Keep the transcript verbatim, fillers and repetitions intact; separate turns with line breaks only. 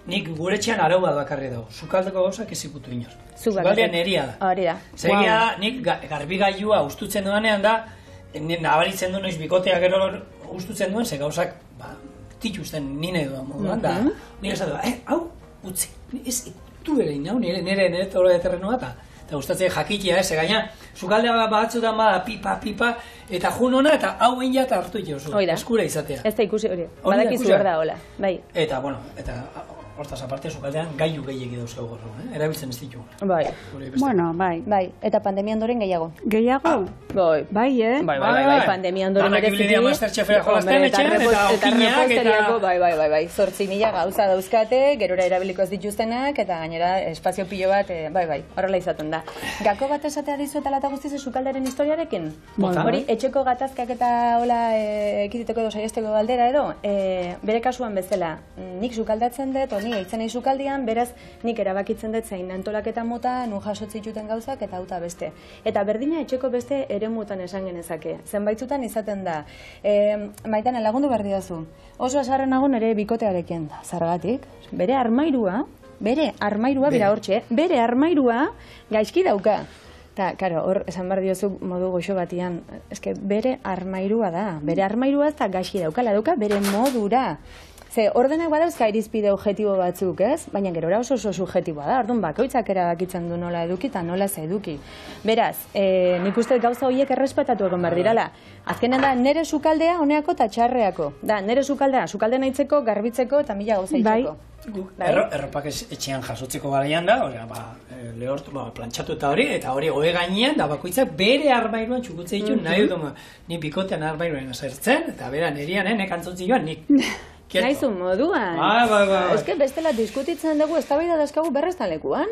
nik gure txean arau bat bakarri dago. Sukaldeko gauzak eziputu inor. Sukaldea neria da.
Hori da.
Zegia da, nik garbigailua ustutzen duanean da, nabaritzen du noiz bikotea gero ustutzen duen, ze gauzak, ba, tituzten nine duan moduan, da, nire esatu da, eh, hau, utzi, ez, du bere inau, nire, nire, nire toro de terrenua, eta, eta gustatzen jakitia, ez, gaina, sukaldea batzutan bada, pipa, pipa, eta jun hona, eta hau egin jata hartu itozu, eskura izatea.
Ez da ikusi hori, badakizu hor da, hola, bai.
Eta, bueno, eta, hortaz aparte, sukaldean gailu gehiagi dauzkagu gorro, eh? Erabiltzen ez ditugu.
Bai.
Bueno, bai.
Bai, eta pandemia ondoren gehiago.
Gehiago?
Bai.
Bai, eh?
Bai, bai, bai, pandemia ondoren bereziki.
Danak Masterchefera jolazten etxean, eta okinak, eta...
Bai, bai, bai, bai, zortzi mila gauza dauzkate, gerora erabiliko ez dituztenak, eta gainera espazio pilo bat, bai, bai, horrela izaten da. Gako bat esatea dizuetala eta guztiz sukaldaren historiarekin? Hori, etxeko gatazkak eta hola ekiditeko edo saiesteko galdera edo, bere kasuan bezala, nik sukaldatzen dut, ni eitzen nahi sukaldian, beraz nik erabakitzen dut zein antolaketa mota, nun jasotzituten gauzak eta hauta beste. Eta berdina etxeko beste eremutan esan genezake. Zenbaitzutan izaten da. E, Maitane, lagundu behar didazu. Oso asarren nago nere bikotearekin. Zargatik, bere armairua, bere armairua, bera hortxe, bere armairua gaizki dauka. Eta, karo, hor, esan behar diozu modu goxo batian, eske bere armairua da. Bere armairua ez da gaizki daukala, dauka bere modura. Ze, ordenak badauzka irizpide objektibo batzuk, ez? Baina gerora oso oso subjektiboa da, orduan bakoitzak erabakitzen du nola eduki eta nola ez eduki. Beraz, e, nik uste gauza horiek errespetatu egon behar dirala. Azkenean da, nere sukaldea honeako eta txarreako. Da, nere sukaldea, sukalde nahitzeko, garbitzeko eta mila gauza itxeko.
Erropak etxean jasotzeko garaian da, lehortu, plantxatu eta hori, eta hori ohe gainean, da bakoitzak bere armairuan txukutze ditu, nahi dut, ni bikotean armairuan esertzen, eta bera nerian, nek antzontzi joan, nik...
Naizu moduan.
Bai, bai, bai.
Ez que bestela diskutitzen dugu, eztabaida dauzkagu berreztan lekuan.